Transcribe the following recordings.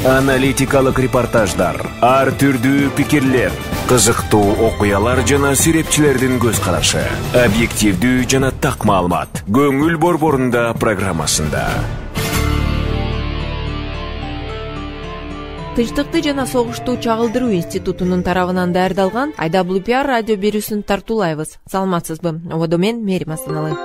Аналитикалык репортаждар, ар түрдүү пикирлер, кызыктуу окуялар жана сүрөтчүлөрдүн көз карашы, объективдүү жана так маалымат. Көңүл борборунда программасында. Тынчтыкты жана согушту чагылдыруу институтунун тарабынан даярдалган IWPR радио берүүсүн тартуулайбыз. Саламатсызбы? Ободо мен Мерим Асаналы.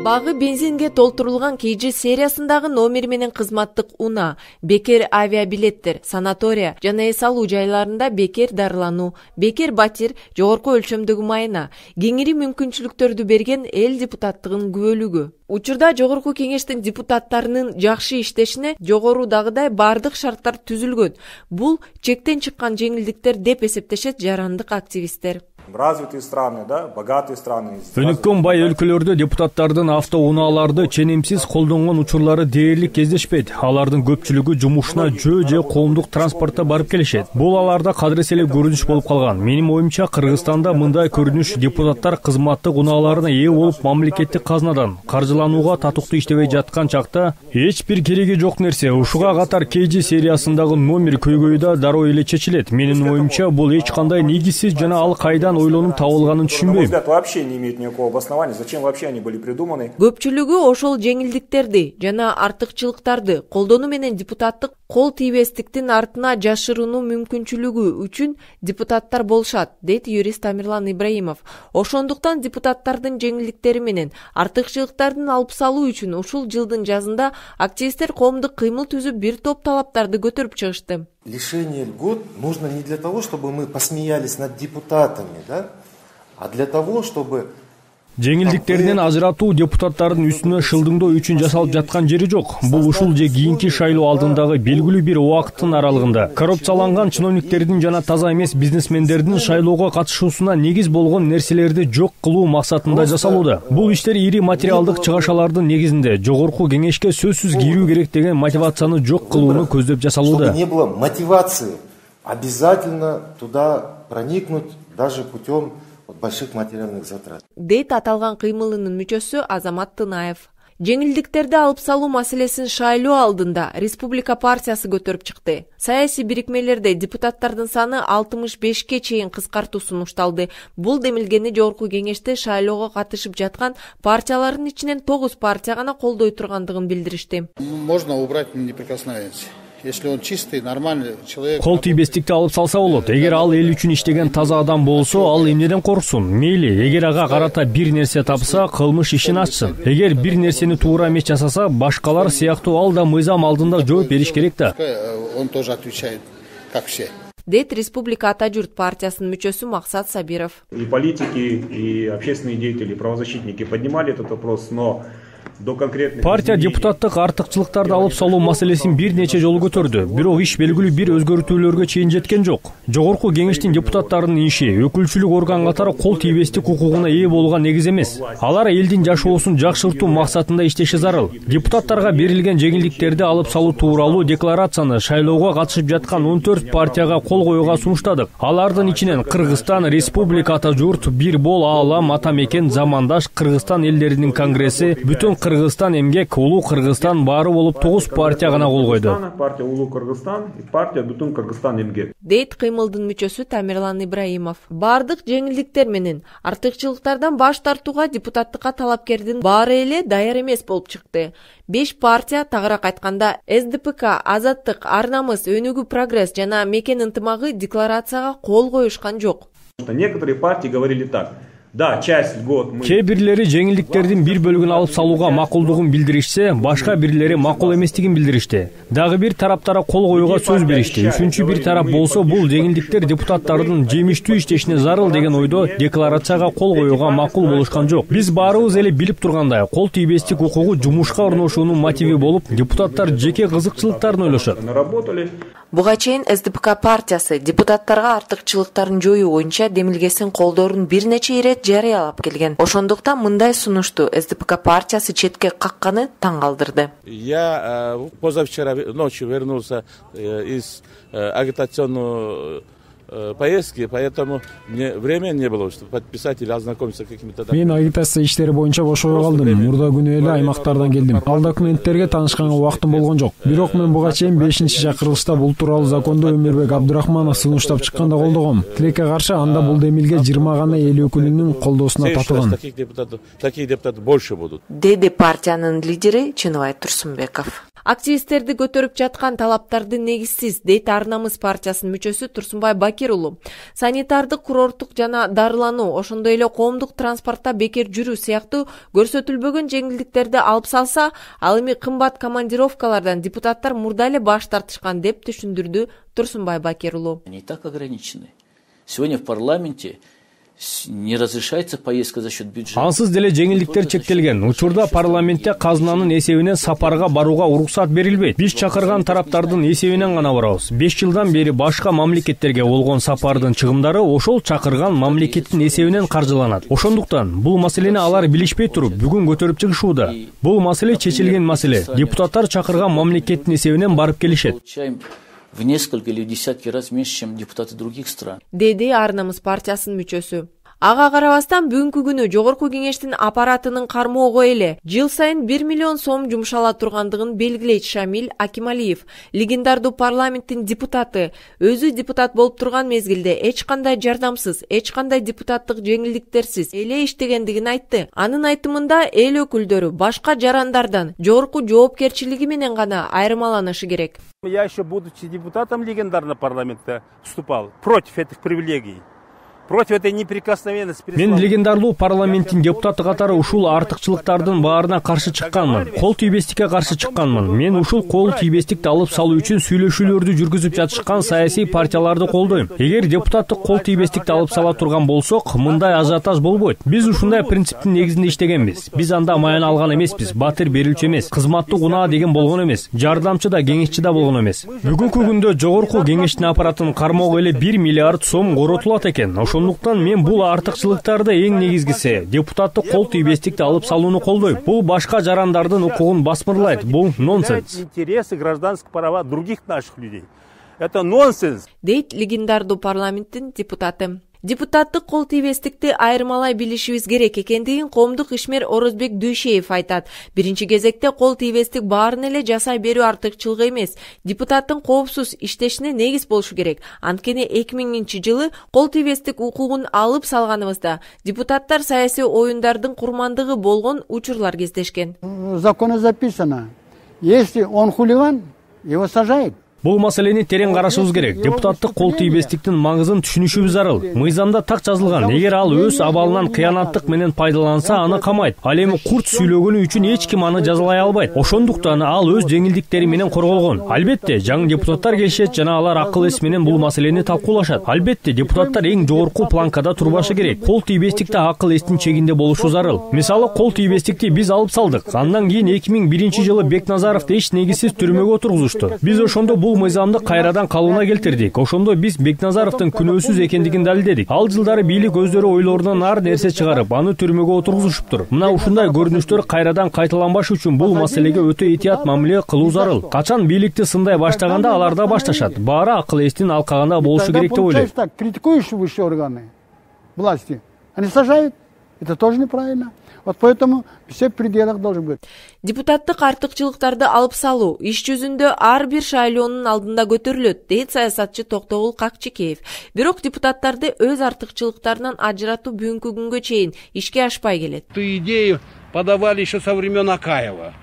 Багы бензинге толтурулган KG сериясындагы номер менен кызматтык унаа, бекер авиабилеттер, санатория жана эс алуу жайларында бекер дарылануу, бекер батир, жогорку өлчөмдөгү майына, кеңири мүмкүнчүлүктөрдү берген эл депутаттыгынын күбөлүгү. Учурда жогорку кеңештин депутаттарынын жакшы иштешине жогорудагыдай бардык шарттар түзүлгөн. Бул чектен чыккан жеңилдиктер деп эсептешет жарандык активисттер. Развитые страны, да, богатые страны. Өнүккөн бай өлкөлөрдө депутаттардын автоунааларды ченемсиз колдонгон учурлары дээрлик кездешпейт. Алардын көпчүлүгү жумушуна жөө же коомдук транспортто барып келишет. Бул аларда кадырселеп көрүнүш болуп калган. Менин оюмча, Кыргызстанда мындай көрүнүш депутаттар кызматтык унааларына ээ болуп мамлекеттик казнадан каржыланууга татыктуу иштебей жаткан чакта эч бир кереги жок нерсе. Ушуга катар KG сериясындагы номер көйгөйү да дароо эле чечилет. Менин оюмча, бул эч кандай негизсиз жана ал кайдан ойлонуп табылганын түшүнбөйм. Вообще не имеет никакого обоснования. Зачем вообще они были придуманы? Көпчүлүгү ошол жеңилдиктерди жана артыкчылыктарды колдонуу менен депутаттык кол тийбестиктин артына жашырынуу мүмкүнчүлүгү үчүн депутаттар болушат, дейт юрист Тамерлан Ибраимов. Ошондуктан депутаттардын жеңилдиктери менен артыкчылыктардын алып салуу үчүн ушул жылдын жазында активисттер коомдук кыймыл түзүп бир топ талаптарды көтөрүп чыгышты. Лишение льгот нужно не для того, чтобы мы посмеялись над депутатами, да, а для того, чтобы... Жеңилдиктеринен ажыратуу депутаттардын үстүнө шылдыңдоо үчүн жасалып жаткан жери жок. Бул ушул же кийинки шайлоо алдындагы белгилүү бир убакыттын аралыгында коррупцияланган чиновниктердин жана таза эмес бизнесмендердин шайлоого катышуусуна негиз болгон нерселерди жок кылуу максатында жасалууда. Бул иштер ири материалдык чыгашалардын негизинде жогорку кеңешке сөзсүз кирүү керек деген мотивацияны жок кылууну көздөп жасалууда. Чтобы не было мотивации обязательно туда проникнуть даже путем больших материальных затрат. Дейт аталган кыймылынын мүчөсү Азамат Тынаев. Жеңилдиктерди алып салуу маселесин шайлоо алдында Республика партиясы көтөрүп чыкты. Саясий бирикмелерде депутаттардын саны 65ке чейин кыскартуу сунушталды. Бул демилгени жогорку кеңеште шайлоого катышып жаткан партиялардын ичинен 9 партия гана колдой тургандыгын билдиришти. Можно убрать неприкосновенность. Если он чистый, нормальный человек. Кол тийбестикти алып салса болот. Эгер ал эл үчүн иштеген таза адам болсо, ал эмнеден корксун? Мейли, эгер ага карата бир нерсе тапса, кылмыш ишин ачсын. Эгер бир нерсени туура эмес жасаса, башкалар сыяктуу ал да мыйзам алдында жооп бериш керек да. Он тоже отвечает, как все. Дейт Республика Ата журт партиясынын мүчөсү Максат Сабиров. И политики, и общественные деятели, и правозащитники поднимали этот вопрос, но партия депутаттык артыкчылыктарды алып салуу маселесин бир нече жолу көтөрдү. Бирок иш белгилүү бир өзгөртүүлөргө чейин жеткен жок. Жогорку кеңештин депутаттарынын иши өкүлчүлүк орган катары кол тийбестик укугуна ээ болгон негиз эмес. Алар элдин жашоосун жакшыртуу максатында иштеши зарыл. Депутаттарга берилген жеңилдиктерди алып салуу тууралуу декларацияны шайлоого катышып жаткан 14 партияга кол коюуга сунуштадык. Алардын ичинен Кыргызстан, Республика Ата журт, Бир бол Аалам, Ата мекен, Замандаш, Кыргызстан элдеринин конгресси, Бүтүн Кыргызстан эмгек, Улуу Кыргызстан баары болуп 9 партия гана кол койду. Партия Улуу Кыргызстан и партия Бүтүн Кыргызстан эмгек. Дейт кыймылдын мүчөсү Тамерлан Ибраимов. Бардык жеңилдиктер менен артыкчылыктардан баш тартууга депутаттыкка талапкердин баары эле даяр эмес болуп чыкты. 5 партия, тагыраак айтканда СДПК, Азаттык, Ар намыс, Өнүгүү прогресс жана Мекен ынтымагы декларацияга кол коюшкан жок. Некоторые партии говорили так: да, часть льгот мы... Кээ бирлери жеңилдиктердин бир бөлүгүн алып салууга макулдугун билдиришсе, башка бирлери макул эместигин билдиришти. Дагы бир тараптара кол коюуга сөз беришти. Үчүнчү бир тарап болсо, бул жеңилдиктер депутаттардын жемиштүү иштешине зарыл деген ойдо декларацияга кол коюуга макул болушкан жок. Биз баарыбыз эле билип тургандай, кол тийбестик укугу жумушка орношуунун мотиви болуп, депутаттар жеке кызыкчылыктарын ойлошот. Буга чейин СДПК партиясы депутаттарга артыкчылыктарын жоюу боюнча демилгесин колдоорун бир нече ирет жарыялап келген. Ошондуктан мындай сунушту СДПК партиясы четке какканы таң калтырды. Я позавчера ночью вернулся из агитационного поездки, поэтому мне времени не было, чтобы подписать или ознакомиться с какими-то... Мен агитация иштери боюнча бошого калдым. Мурда күнү эле аймактардан келдим. Ал документтерге таанышканга убактым болгон жок. Бирок мен буга чейин 5-чакырылышта бул тууралуу законду Өмүрбек Абдурахманов сунуштап чыкканда колдогом. Тилекке каршы анда бул демилге 20 гана эл өкүлүнүн колдоосуна татылган. Таких депутатов больше будут. Деди партиянын лидери Чыныбай Турсунбеков. Активисттерди көтөрүп жаткан талаптарды негизсиз, дейт Ар намыс партиясынын мүчөсү Турсунбай Бакир уулу. Санитардык, курорттук жана дарылануу, ошондой эле коомдук транспортто бекер жүрүү сыяктуу көрсөтүлбөгөн жеңилдиктерди алып салса, ал эми кымбат командировкалардан депутаттар мурда эле баш тартышкан деп түшүндүрдү Турсунбай Бакир уулу. Они и так ограничены. Сегодня в парламенте не разрешается поездка за счет бюджета. Ансыз деле жеңилдиктер чектелген. Учурда парламентте казынанын эсебинен сапарга барууга уруксат берилбейт. Биз чакырган тараптардын эсебинен гана барабыз. 5 жылдан бери башка мамлекеттерге болгон сапардын чыгымдары ошол чакырган мамлекеттин эсебинен каржыланат. Ошондуктан бул маселени алар билишпей туруп бүгүн көтөрүп чыгышууда. Бул маселе чечилген маселе. Депутаттар чакырган мамлекеттин эсебинен барып келишет. В несколько или в десятки раз меньше, чем депутаты других стран. Деди Ар намыс партиясынын мүчөсү. Ага карабастан бүгүнкү күнү жогорку кеңештин аппаратынын кармоого эле жыл сайын 1 миллион сом жумшала тургандыгын белгилейт Шамил Акималиев. Легендардуу парламенттин депутаты өзү депутат болуп турган мезгилде эч кандай жардамсыз, эч кандай депутаттык жеңилдиктерсиз эле иштегендигин айтты. Анын айтымында эл өкүлдөрү башка жарандардан жогорку жоопкерчилиги менен гана айырмаланышы керек. Я еще, будучи депутатом легендарного парламента, вступал против этих привилегий. Против этой неприкосновенности. Мен легендарлуу парламенттин депутаты катары ушул артыкчылыктардын баарына каршы чыкканмын. Кол тийбестикке каршы чыкканмын. Мен ушул кол тийбестикти алып салуу үчүн сүйлөшүүлөрдү жүргүзүп жатышкан саясий партияларды колдойм. Эгер депутаттык кол тийбестикти алып сала турган болсок, мындай ажиотаж болбойт. Биз ушундай принциптин негизинде иштегенбиз. Биз анда маяна алган эмеспиз, батир берүүчү эмес, кызматтык унаа деген болгон эмес, жардамчы да, кеңешчи да болгон эмес. Бүгүнкү күндө жогорку кеңештин аппаратынын кармоого эле 1 миллиард сом коротулат экен. Ошондуктан мен бул артыкчылыктарды эң негизгиси депутаттык кол тийбестикти алып салууну колдойм. Бул башка жарандардын укугун басмырлайт. Бул нонсенс. Интересы гражданских права других наших людей. Это нонсенс. Дейт легендардуу парламенттин депутаты. Депутаттык кол тийбестикти айырмалай билишибиз керек экендигин коомдук ишмер Орозбек Дүйшеев айтат. Биринчи кезекте кол тийбестик баарын эле жасай берүү артыкчылыгы эмес, депутаттын коопсуз иштешине негиз болушу керек. Анткени 2000-жылы кол тийбестик укугун алып салганыбызда депутаттар саясий оюндардын курмандыгы болгон учурлар кездешкен. В законе записано: если он хулиган, его сажают. Бул маселени терең карашыбыз керек. Депутаттык кол тийбестиктин маңызын түшүнүшүбүз зарыл. Мыйзамда так жазылган. Эгер ал өз абалынан кыянаттык менен пайдаланса, аны камайт. Ал эми курт сүйлөгөнү үчүн эч ким аны жазалай албайт. Ошондуктан ал өз жеңилдиктери менен корголгон. Албетте, жаңы депутаттар келишет жана алар акыл эс менен бул маселени талкуулашат. Албетте, депутаттар эң жогорку планкада турбашы керек. Кол тийбестикте акыл эстин чегинде болушу зарыл. Мисалы, кол тийбестикти биз алып салдык. Андан кийин 2001-жылы Бекназаровду эч негизсиз түрмөгө отургузушту. Биз ошондо бул мыйзамды кайрадан калыбына келтирдик. Ошондо биз Бекназаровдун күнөөсүз экендигин далилдедик. Ал жылдары бийлик өздөрү ойлорунан ар нерсе чыгарып, аны түрмөгө отургузушуптур. Мына ушундай көрүнүштөр кайрадан кайталанбаш үчүн бул маселеге өтө этият мамиле кылуу зарыл. Качан бийликти сындай баштаганда алар да башташат. Баары акыл эстин алкагында болушу керек деп ойлойм. Критикуешь высшие органы власти, они сажают. Это тоже неправильно. Вот поэтому все в пределах должен быть. Депутаттык артыкчылыктарды алып салуу иш жүзүндө ар бир шайлоонун алдында көтөрүлөт, дейт саясатчы Токтогул Какчикеев. Бирок депутаттарды өз артыкчылыктарынан ажыратуу бүгүнкү күнгө чейин ишке ашпай келет. Эту идею подавали еще со времен Акаева.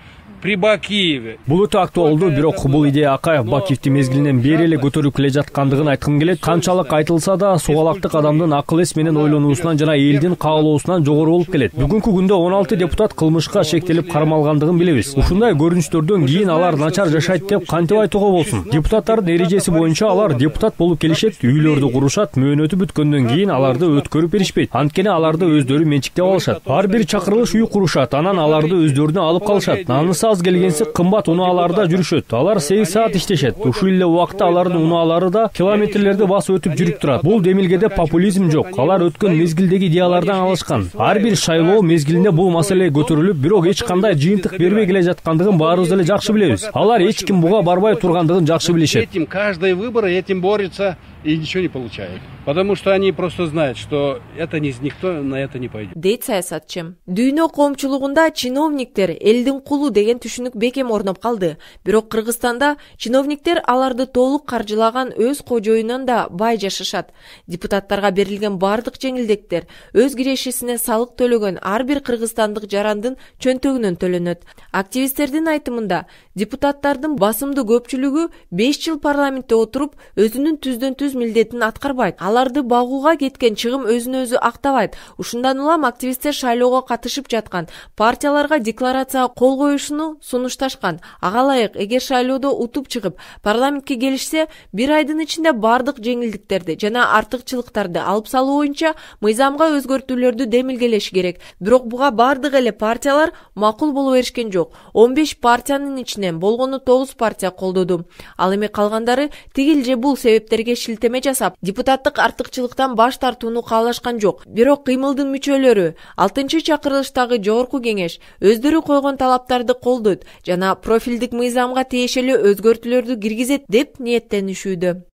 При Бакиеве. Бул өтө актуалдуу, бирок бул идея Акаев Бакиевди мезгилинен бери эле көтөрүп келе жаткандыгын айткым келет. Канчалык айтылса да, сугалактык адамдын акыл эс менен ойлонуусунан жана элдин каалоосунан жогору болуп келет. Бүгүнкү күндө 16 депутат кылмышка шектелип кармалгандыгын билебиз. Ушундай көрүнүштөрдөн кийин алар начар жашайт деп кантип айтууга болсун? Депутаттардын эрежеси боюнча алар депутат болуп келишет, үйлөрдү курушат, мөөнөтү бүткөндөн кийин аларды өткөрүп беришпейт. Анткени аларды өздөрү менчиктеп алышат. Ар бир чакырылыш үй курушат, анан аларды өздөрүнө алып калышат. Аз келгенси кымбат унааларда жүрүшөт. Алар 8 саат иштешет. Ушул эле убакта алардын унаалары да километрлерди басып өтүп жүрүп турат. Бул демилгеде популизм жок. Алар өткөн мезгилдеги идеялардан алышкан. Ар бир шайлоо мезгилинде бул маселе көтөрүлүп, бирок эч кандай жыйынтык бербей келе жаткандыгын баарыбыз эле жакшы билебиз. Алар эч ким буга барбай тургандыгын жакшы билишет. Каждый выбор этим борется и ничего не получают. Потому что они просто знают, что это никто на это не пойдет. Дейт саясатчы. Дүйнө коомчулугунда чиновниктер элдин кулу деген түшүнүк бекем орноп калды. Бирок Кыргызстанда чиновниктер аларды толук каржылаган өз кожоюнан да бай жашашат. Депутаттарга берилген бардык жеңилдиктер өз кирешесине салык төлөгөн ар бир кыргызстандык жарандын чөнтөгүнөн төлөнөт. Активисттердин айтымында депутаттардын басымдуу көпчүлүгү 5 жыл парламентте отуруп өзүнүн түздөн түз милдетин аткарбайт. Аларды багууга кеткен чыгым өзүн өзү актабайт. Ушундан улам активисттер шайлоого катышып жаткан партияларга декларацияга кол коюшуну сунушташкан. Ага ылайык, эгер шайлоодо утуп чыгып парламентке келишсе, бир айдын ичинде бардык жеңилдиктерди жана артыкчылыктарды алып салуу боюнча мыйзамга өзгөртүүлөрдү демилгелеш керек. Бирок буга бардык эле партиялар макул боло беришкен жок. 15 партиянын ичинен болгону 9 партия колдоду. Ал эми калгандары тигил же бул себептерге шилтеме жасап, депутаттык артыкчылыктан баш тартууну каалашкан жок. Бирок кыймылдын мүчөлөрү 6-чакырылыштагы жогорку кеңеш өздөрү койгон талаптарды колдойт жана профилдик мыйзамга тиешелүү өзгөртүүлөрдү киргизет деп ниеттенишүүдө.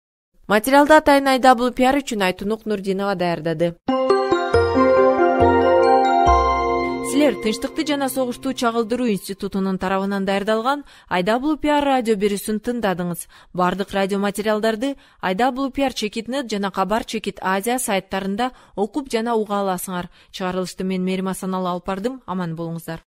Материалды атайын IWPR үчүн Айтунук Нурдинова даярдады. Силер Тынчтыкты жана согушту чагылдыруу институтунун тарабынан даярдалган IWPR радио берүүсүн тыңдадыңыз. Бардык радио материалдарды IWPR Чекит.нет жана Кабар Чекит Азия сайттарында окуп жана уга аласыңар. Чыгарылышты мен Мерим Асаналы алып бардым. Аман болуңуздар.